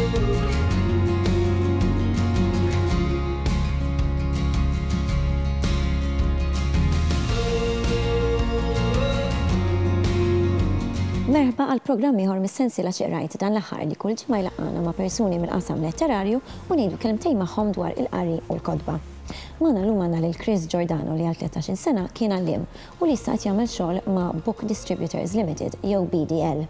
Merħba għal programm ieħor mis-sensiela Xi Qrajt dan l-aħħar li kull ġimgħa jlaqqagħna ma' persuni mill-qasam letterarju u ngħidu kelmtejn magħhom dwar il-qari u l-kotba. Magħna llum għandna lil Chris Giordano li għal 13-il sena kien għalliem u li issa qed jagħmel xogħol ma' Book Distributors Limited jew BDL.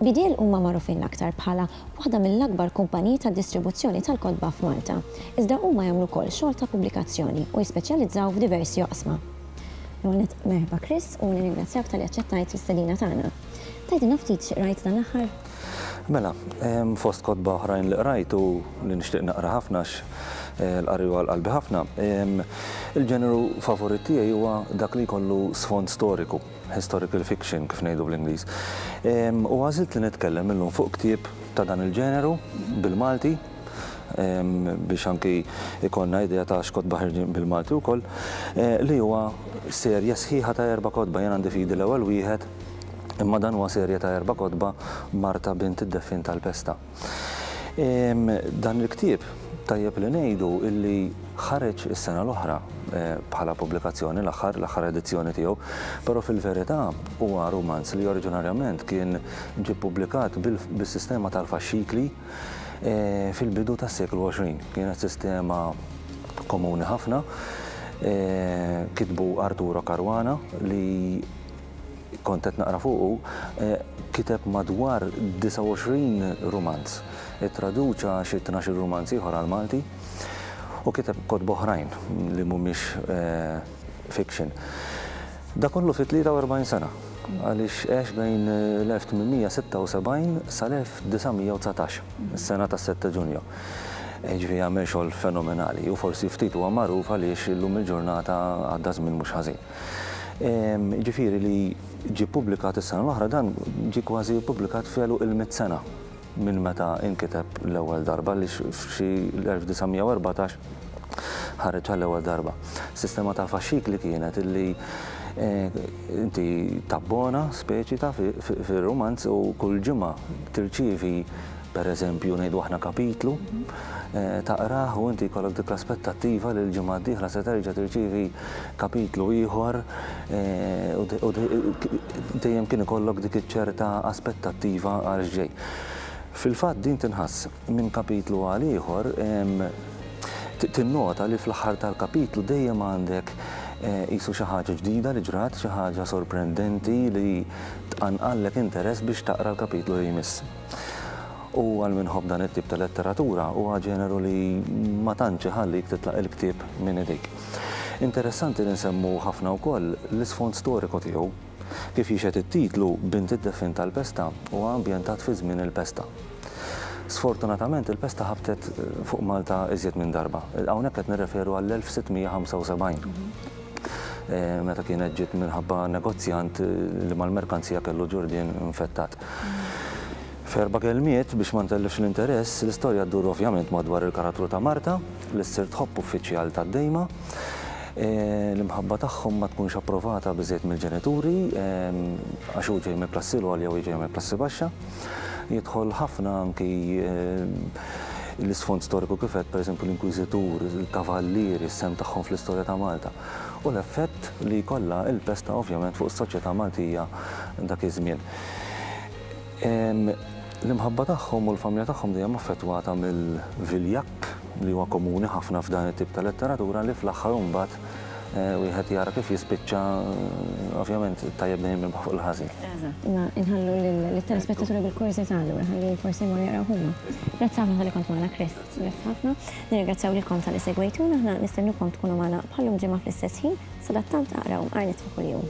BDL huma magħrufin l-aktar bħala waħda mill-akbar kumpaniji ta' distribuzzjoni tal-kotba f'Malta, iżda huma jagħmlu wkoll xogħol ta' pubblikazzjoni u jispeċjalizzaw f'diversi oqsma. L-ewwel nett merħba Chris u nirringrazzjak talli aċċettajt l-istedina tagħna. Tgħidilna ftit xi qrajt dan l-aħħar? Mela, fost kotba oħrajn li qrajt u li nixtieq naqra ħafna għax l-qari huwa għal qalbi ħafna, il-ġeneru favorit tiegħi huwa dak li jkollu sfond storiku, historical fiction kif ngħidu bl-Ingliż. U għażilt li nitkellem illum fuq ktieb ta' dan il-ġeneru bil-Malti, biex anki jkollna idea ta' x'kotba ħerġin bil-Malti wkoll, li huwa serje sħiħa ta' erba' kotba. Jien għandi f'idi l-ewwel wieħed, imma dan huwa serje ta' erba' kotba, Marta bint id-Deffien tal-Pesta. Dan il-ktieb tajjeb li ngħidu illi ħareġ is-sena l-oħra bħala pubblikazzjoni l-aħħar l-aħħar edizzjoni tiegħu, però fil-verità huwa rumanz li oriġinarjament kien ġie ppubblikat bis-sistema tal-faxxikli fil-bidu tas-seklu 20. Kienet sistema komuni ħafna. Kitbu Arturo Caruana li kont qed naqra fuqu, kiteb madwar 29 rumanz. Ittraduċa xi tnax-il rumanz ieħor għall-Malti u kiteb kotba oħrajn li mhumiex fiction. Da kollu fi 43 sena, għaliex għex bejn l-1876 sal-1919, is-sena tas-Sette Ġunju. Jiġifieri għamel xogħol fenomenali u forsi ftit huwa magħruf għaliex illum il-ġurnata għadda żmien mhux ħażin. Jiġifieri li ġie ppubblikat is-sena l-oħra dan ġie kważi ppubblikat f'għeluq il-mitt sena minn meta inkiteb l-ewwel darba għaliex f'xi l-1914 ħareġ għall-ewwel darba. Sistema ta' faxxikli kienet illi inti tabbona speċi ta' fir-rumanz u kull ġimgħa tirċievi Per eżempju, ngħidu aħna kapitlu, taqrah u inti jkollok dik l-aspettattiva li l-ġimgħa d-dieħla se terġa' tirċievi kapitlu ieħor u dejjem kien ikollok dik iċ-ċerta aspettattiva għal x'ġej. Fil-fatt din tinħass minn kapitlu għal ieħor, tinnota li fl-aħħar tal-kapitlu dejjem għandek qisu xi ħaġa ġdida li ġrat, xi ħaġa sorprendenti li tqanqallek interess biex taqra l-kapitlu li jmiss. U għal min iħobb dan it-tip ta' letteratura, huwa ġeneru li ma tantx iħallik titlaq il-ktieb minn idejk. Interessanti li nsemmu ħafna wkoll l-isfond storiku tiegħu. Kif jixhed it-titlu, Bint id-Deffien tal-Pesta huwa ambjentat fi żmien il-pesta. Sfortunatament il-pesta ħabtet fuq Malta iżjed minn darba. Hawnhekk qed nirreferu għall-1675. Meta kienet ġiet minħabba negozjant li mal-merkanzija kellu ġurdien infettat. F'erba' kelmiet, biex ma ntellifx l-interess, l-istorja ddur ovvjament madwar il-karattru ta' Marta, li ssir tħobb uffiċjal tad-Dejma. L-imħabba tagħhom ma tkunx approvata biżżejjed mill-ġenituri, għax hu ġej mill-klassi l-għolja u hi ġejja mill-klassi baxxa. Jidħol ħafna anki l-isfond storiku kif għedt, pereżempju l-Inkwiżitur, il-Kavallieri, is-sehem tagħhom fl-istorja ta' Malta u l-effett li jkollha l-pesta ovvjament fuq is-soċjetà Maltija dak iż-żmien. L-imħabba tagħhom u l-familja tagħhom dejjem affettwata mill-viljakk li huwa komuni ħafna f'dan it-tip ta' letteratura li fl-aħħar imbagħad wieħed jara kif jispiċċa ovvjament it-tajjeb dejjem jirbaħ fuq il-ħażin. Eżatt, imma inħallu lit-telespettaturi bil-kurżità allura ħalli forsi jmorru jaqraw huma. Grazzi ħafna talli kont magħna Chris, grazzi ħafna. Nirringrazzjaw lilkom talli segwejtuna, aħna nistennukom tkunu magħna bħal-lum ġimgħa fl-istess ħin, sadattant aqraw Mqar Nitfa Kuljum.